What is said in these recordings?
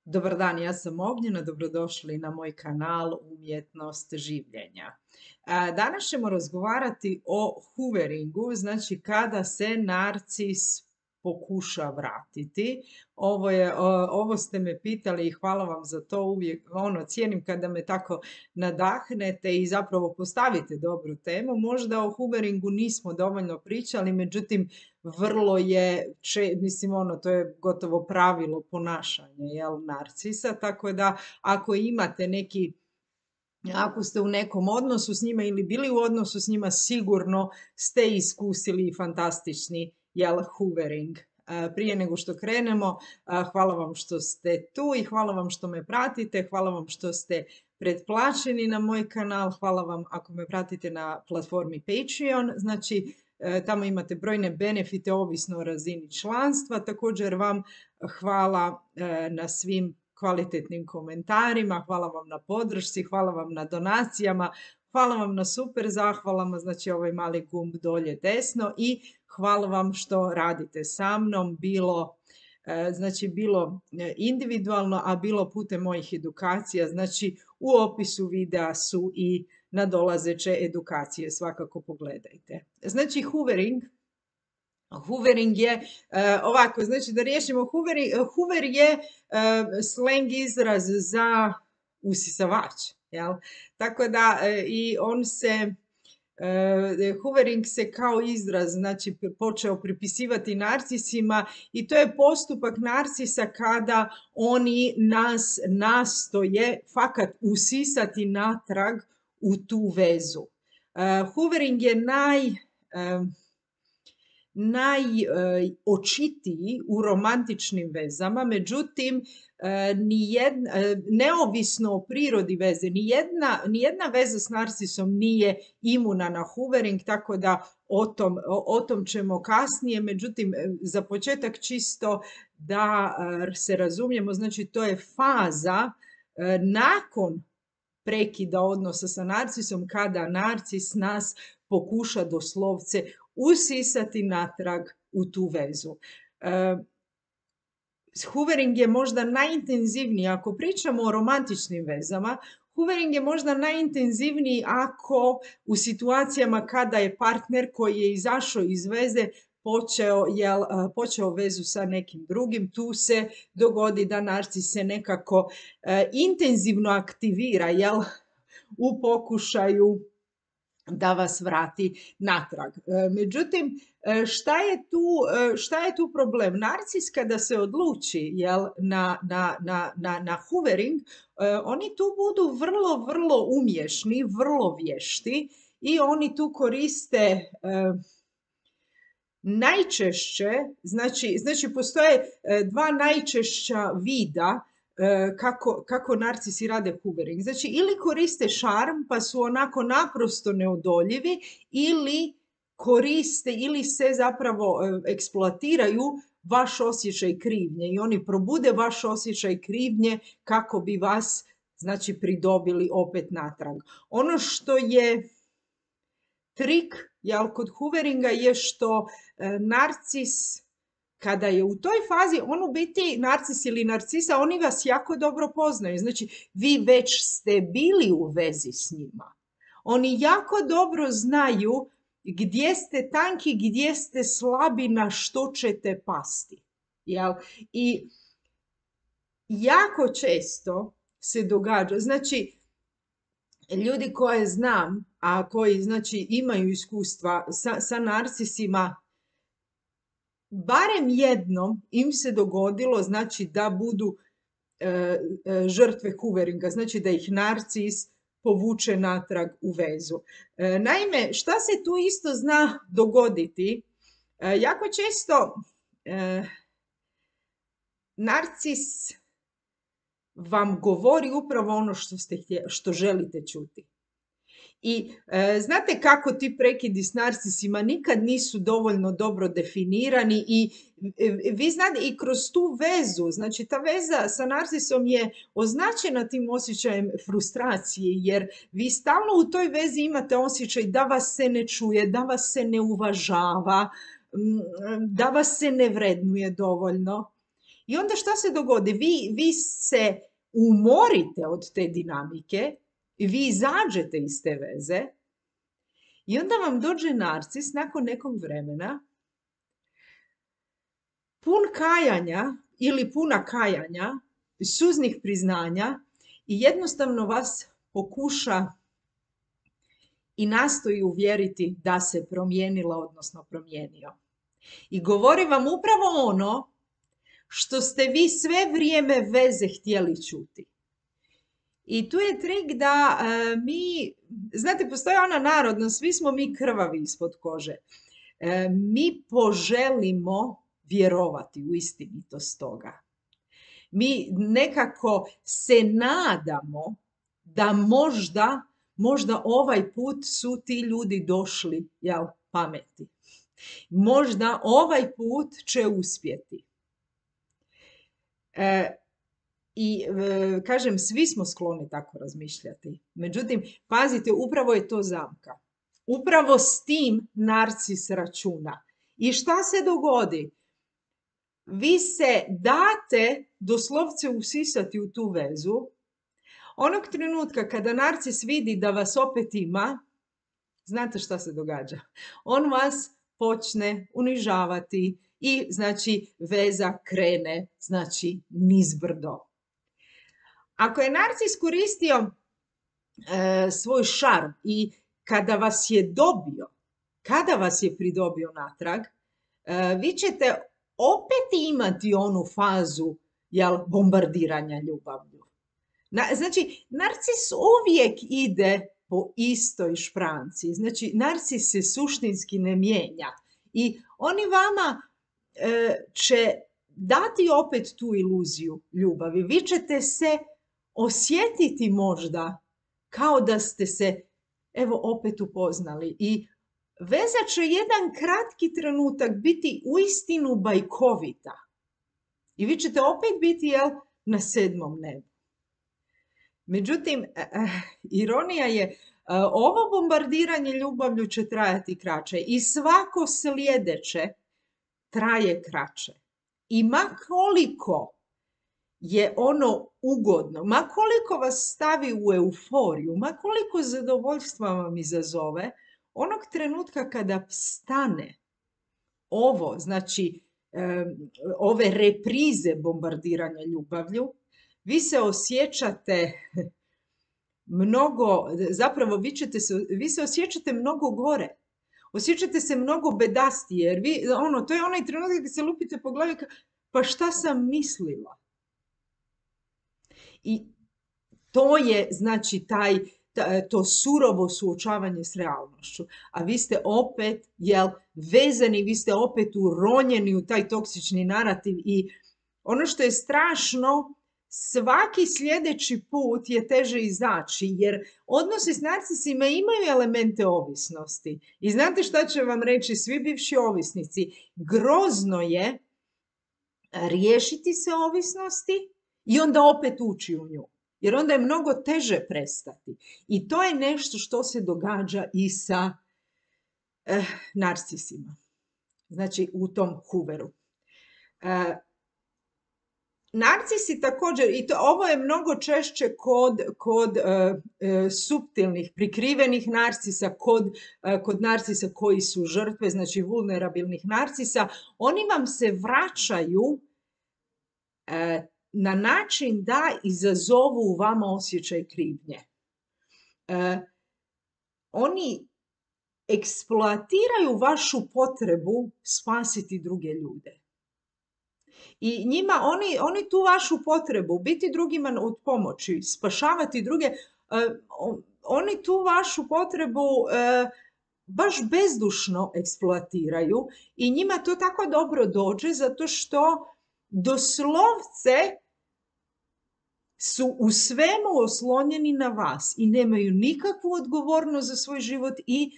Dobar dan, ja sam Ognjena, dobrodošli na moj kanal Umjetnost življenja. Danas ćemo razgovarati o hooveringu, znači kada se narcis pokuša vratiti. Ovo ste me pitali i hvala vam za to, uvijek cijenim kada me tako nadahnete i zapravo postavite dobru temu. Možda o hooveringu nismo dovoljno pričali, međutim vrlo je, to je gotovo pravilo ponašanja, narcisa, tako da ako ste u nekom odnosu s njima ili bili u odnosu s njima, sigurno ste iskusili fantastični, hoovering. Prije nego što krenemo, hvala vam što ste tu i hvala vam što me pratite, hvala vam što ste pretplaćeni na moj kanal, hvala vam ako me pratite na platformi Patreon, znači tamo imate brojne benefite ovisno o razini članstva. Također vam hvala na svim kvalitetnim komentarima, hvala vam na podršci, hvala vam na donacijama, hvala vam na super zahvalama, znači ovaj mali gumb dolje desno, i hvala vam što radite sa mnom, bilo individualno, a bilo putem mojih edukacija. Znači u opisu videa su i nadolazeće edukacije, svakako pogledajte. Znači hoovering je ovako, znači da riješimo hoover je slang izraz za usisavač, jel? Tako da i hoovering se kao izraz, znači, počeo pripisivati narcisima i to je postupak narcisa kada oni nas nastoje fakat usisati natrag u tu vezu. Hoovering je najočitiji u romantičnim vezama, međutim, neovisno o prirodi veze, nijedna veza s narcisom nije imuna na hoovering, tako da o tom ćemo kasnije. Međutim, za početak čisto da se razumijemo, znači to je faza nakon prekida odnosa sa narcisom, kada narcis nas pokuša doslovce usisati natrag u tu vezu. Hoovering je možda najintenzivniji, ako pričamo o romantičnim vezama, hoovering je možda najintenzivniji ako u situacijama kada je partner koji je izašao iz veze počeo vezu sa nekim drugim, tu se dogodi da narcis se nekako intenzivno aktivira, u pokušaju da vas vrati natrag. Međutim, šta je tu problem? Narcis kada se odluči na hoovering, oni tu budu vrlo, vrlo umješni, vrlo vješti i oni tu koriste najčešće, znači postoje dva najčešća vida kako narcisi rade hoovering. Znači, ili koriste šarm pa su onako naprosto neodoljivi, ili se zapravo eksploatiraju vaš osjećaj krivnje i oni probude vaš osjećaj krivnje kako bi vas, znači, pridobili opet natrag. Ono što je trik kod hooveringa je što narcis, kada je u toj fazi, on u biti, narcis ili narcisa, oni vas jako dobro poznaju. Znači, vi već ste bili u vezi s njima. Oni jako dobro znaju gdje ste tanki, gdje ste slabi, na što ćete pasti. I jako često se događa, znači, ljudi koje znam, a koji, znači, imaju iskustva sa narcisima, barem jednom im se dogodilo, znači, da budu žrtve hooveringa, znači da ih narcis povuče natrag u vezu. Naime, šta se tu isto zna dogoditi? Jako često narcis vam govori upravo ono što želite čuti. I znate kako ti prekidi s narcisima nikad nisu dovoljno dobro definirani i vi znate i kroz tu vezu, znači ta veza sa narcisom je označena tim osjećajem frustracije, jer vi stalno u toj vezi imate osjećaj da vas se ne čuje, da vas se ne uvažava, da vas se ne vrednuje dovoljno. I onda šta se dogodi? Vi se umorite od te dinamike, vi izađete iz te veze i onda vam dođe narcis nakon nekog vremena pun kajanja ili puna kajanja, suznih priznanja i jednostavno vas pokuša i nastoji uvjeriti da se promijenila, odnosno promijenio. I govori vam upravo ono što ste vi sve vrijeme veze htjeli čuti. I tu je trik da mi, znate, postoji ona narodna, svi smo mi krvavi ispod kože. Mi poželimo vjerovati u istinitost toga. Mi nekako se nadamo da možda ovaj put su ti ljudi došli, pameti. Možda ovaj put će uspjeti. Kažem, svi smo skloni tako razmišljati. Međutim, pazite, upravo je to zamka. Upravo s tim narcis računa. I šta se dogodi? Vi se date doslovce usisati u tu vezu. Onog trenutka kada narcis vidi da vas opet ima, znate šta se događa? On vas počne unižavati i znači veza krene znači nizbrdo. Ako je narcis koristio svoj šarm i kada vas je dobio, kada vas je pridobio natrag, vi ćete opet imati onu fazu bombardiranja ljubavlju. Znači, narcis uvijek ide po istoj špranci. Znači, narcis se suštinski ne mijenja. I oni vama će dati opet tu iluziju ljubavi. Vi ćete se osjetiti možda kao da ste se opet upoznali. I veza će jedan kratki trenutak biti uistinu bajkovita. I vi ćete opet biti na 7. nebu. Međutim, ironija je, ovo bombardiranje ljubavlju će trajati kraće i svako sljedeće traje kraće. I ma koliko je ono ugodno, ma koliko vas stavi u euforiju, ma koliko zadovoljstva vam izazove, onog trenutka kada stane ovo, znači ove reprize bombardiranja ljubavlju, vi se osjećate mnogo, zapravo vi se osjećate mnogo gore. Osjećate se mnogo bedastije, jer to je onaj trenutak gdje se lupite po glavi, pa šta sam mislila? I to je, znači, to surovo suočavanje s realnošću. A vi ste opet, vezani, vi ste opet uronjeni u taj toksični narativ i ono što je strašno, svaki sljedeći put je teže izaći, jer odnosi s narcisima imaju elemente ovisnosti. I znate šta će vam reći svi bivši ovisnici? Grozno je riješiti se ovisnosti i onda opet ući u nju. Jer onda je mnogo teže prestati. I to je nešto što se događa i sa narcisima. Znači u tom huveru. Narcisi također, i ovo je mnogo češće kod suptilnih, prikrivenih narcisa, kod narcisa koji su žrtve, znači vulnerabilnih narcisa, oni vam se vraćaju na način da izazovu u vama osjećaj krivnje. Oni eksploatiraju vašu potrebu spasiti druge ljude. I njima, oni tu vašu potrebu, biti drugima od pomoći, spašavati druge, oni tu vašu potrebu baš bezdušno eksploatiraju i njima to tako dobro dođe zato što doslovce su u svemu oslonjeni na vas i nemaju nikakvu odgovornost za svoj život i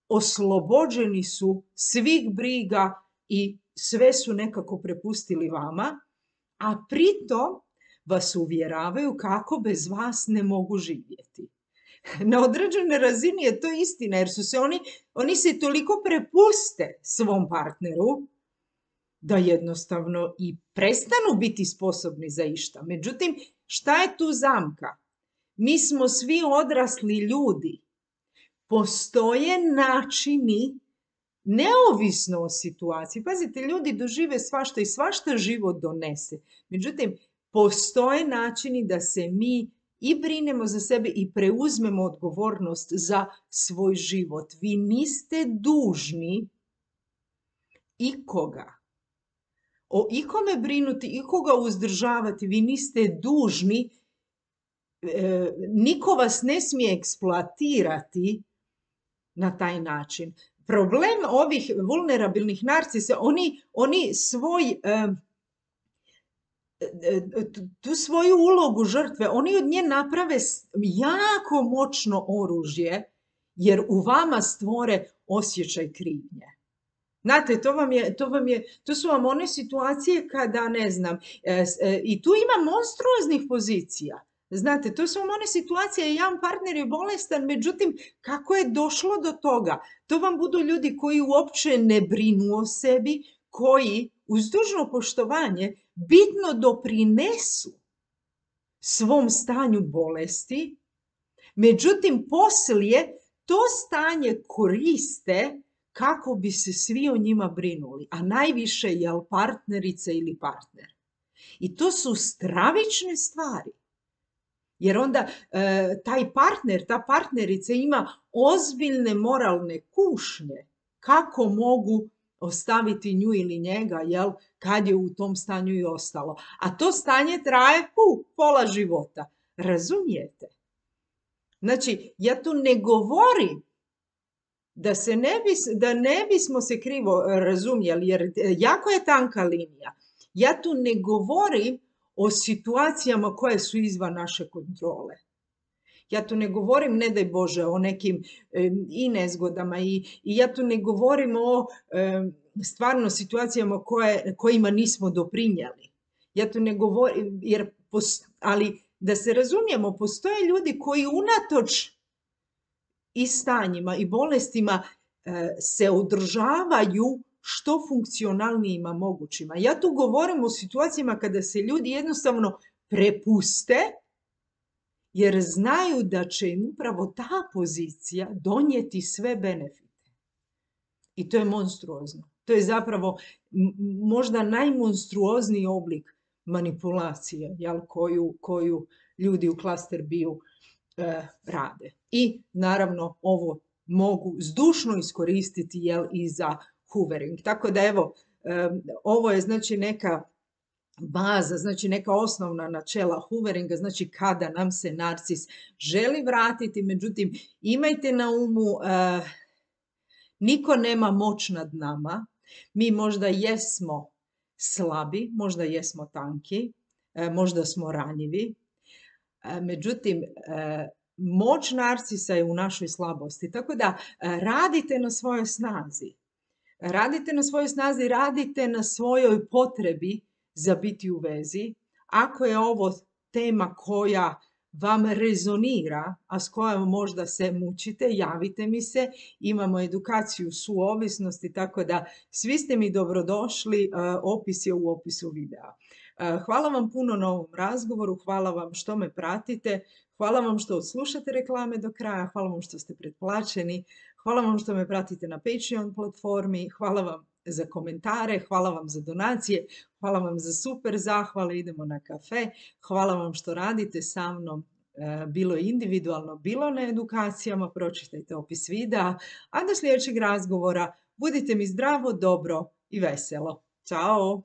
oslobođeni su svih briga i sve su nekako prepustili vama, a pritom vas uvjeravaju kako bez vas ne mogu živjeti. Na određenoj razini je to istina, jer su se oni se toliko prepuste svom partneru da jednostavno i prestanu biti sposobni za išta. Međutim, šta je tu zamka? Mi smo svi odrasli ljudi. Postoje načini, neovisno o situaciji. Pazite, ljudi dožive svašta i svašta život donese. Međutim, postoje načini da se mi i brinemo za sebe i preuzmemo odgovornost za svoj život. Vi niste dužni ikoga o ikome brinuti, ikoga uzdržavati. Vi niste dužni, niko vas ne smije eksploatirati na taj način. Problem ovih vulnerabilnih narcisa, oni tu svoju ulogu žrtve, oni od nje naprave jako moćno oružje, jer u vama stvore osjećaj krivnje. Znate, to su vam one situacije kada, ne znam, i tu ima monstruoznih pozicija. Znate, to su vam one situacije, jedan partner je bolestan, međutim, kako je došlo do toga? To vam budu ljudi koji uopće ne brinu o sebi, koji, uz dužno poštovanje, bitno doprinesu svom stanju bolesti, međutim, poslije to stanje koriste kako bi se svi o njima brinuli, a najviše jel partnerica ili partner. I to su stravične stvari. Jer onda taj partner, ta partnerica ima ozbiljne moralne kušnje kako mogu ostaviti nju ili njega, jel, kad je u tom stanju i ostalo. A to stanje traje pola života. Razumijete? Znači, ja tu ne govorim da ne bismo se krivo razumjeli, jer jako je tanka linija. Ja tu ne govorim o situacijama koje su izvan naše kontrole. Ja tu ne govorim, ne daj Bože, o nekim i nezgodama i ja tu ne govorim o stvarno situacijama kojima nismo doprinijeli. Ja tu ne govorim, ali da se razumijemo, postoje ljudi koji unatoč i stanjima i bolestima se održavaju što funkcionalnijima mogućima. Ja tu govorim o situacijama kada se ljudi jednostavno prepuste jer znaju da će im upravo ta pozicija donijeti sve benefite. I to je monstruozno. To je zapravo možda najmonstruozniji oblik manipulacije, jel, koju ljudi u Cluster B-u rade. I naravno ovo mogu zdušno iskoristiti, jel, i za hoovering. Tako da evo, ovo je znači neka baza, znači neka osnovna načela hooveringa, znači kada nam se narcis želi vratiti, međutim imajte na umu, niko nema moć nad nama, mi možda jesmo slabi, možda jesmo tanki, možda smo ranjivi, međutim moć narcisa je u našoj slabosti, tako da radite na svojoj snazi. Radite na svojoj snazi, radite na svojoj potrebi za biti u vezi. Ako je ovo tema koja vam rezonira, a s kojom možda se mučite, javite mi se. Imamo edukaciju suovisnosti, tako da svi ste mi dobrodošli. Opis je u opisu videa. Hvala vam puno na ovom razgovoru, hvala vam što me pratite, hvala vam što odslušate reklame do kraja, hvala vam što ste pretplaćeni, hvala vam što me pratite na Patreon platformi, hvala vam za komentare, hvala vam za donacije, hvala vam za super zahvale, idemo na kafe, hvala vam što radite sa mnom, bilo individualno, bilo na edukacijama, pročitajte opis videa, a do sljedećeg razgovora budite mi zdravo, dobro i veselo. Ćao!